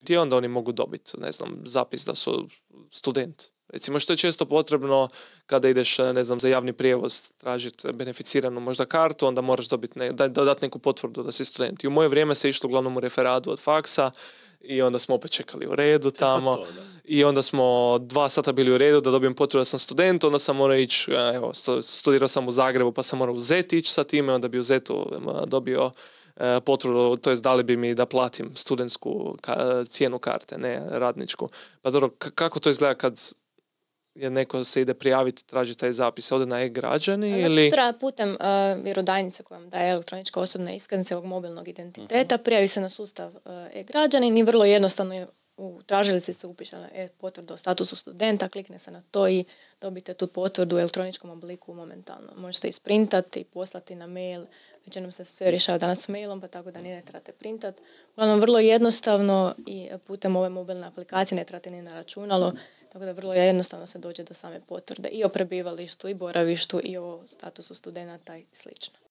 I onda oni mogu dobiti, ne znam, zapis da su student. Recimo, što je često potrebno kada ideš, ne znam, za javni prijevoz tražiti beneficiranu možda kartu, onda moraš dobiti dati neku potvrdu da si student. I u moje vrijeme se išlo uglavnom u referadu od faksa i onda smo opet čekali u redu tamo i onda smo 2 sata bili u redu da dobijem potvrdu da sam student, onda sam morao ići, evo, studirao sam u Zagrebu pa sam morao u Zet ići sa time, onda bi u Zetu dobio potvrdu, to jest dali bi mi da platim studentsku cijenu karte, ne radničku. Pa dobro, kako to izgleda kad jer neko se ide prijaviti, traži taj zapis, ode na e-građani ili... Treba putem vjerodajnice koja vam daje elektronička osobna iskaznica ovog mobilnog identiteta, prijavi se na sustav e-građanin i vrlo jednostavno u tražilici se upiše potvrdu o statusu studenta, klikne se na to i dobite tu potvrdu u elektroničkom obliku momentalno. Možete isprintati i poslati na mail, većinom se sve rješava danas mailom, pa tako da ni ne trebate printati. Uglavnom, vrlo jednostavno i putem ove mobilne aplikacije ne trebate ni na računalo, tako da vrlo jednostavno se dođe do same potvrde i o prebivalištu i boravištu i o statusu studenata i slično.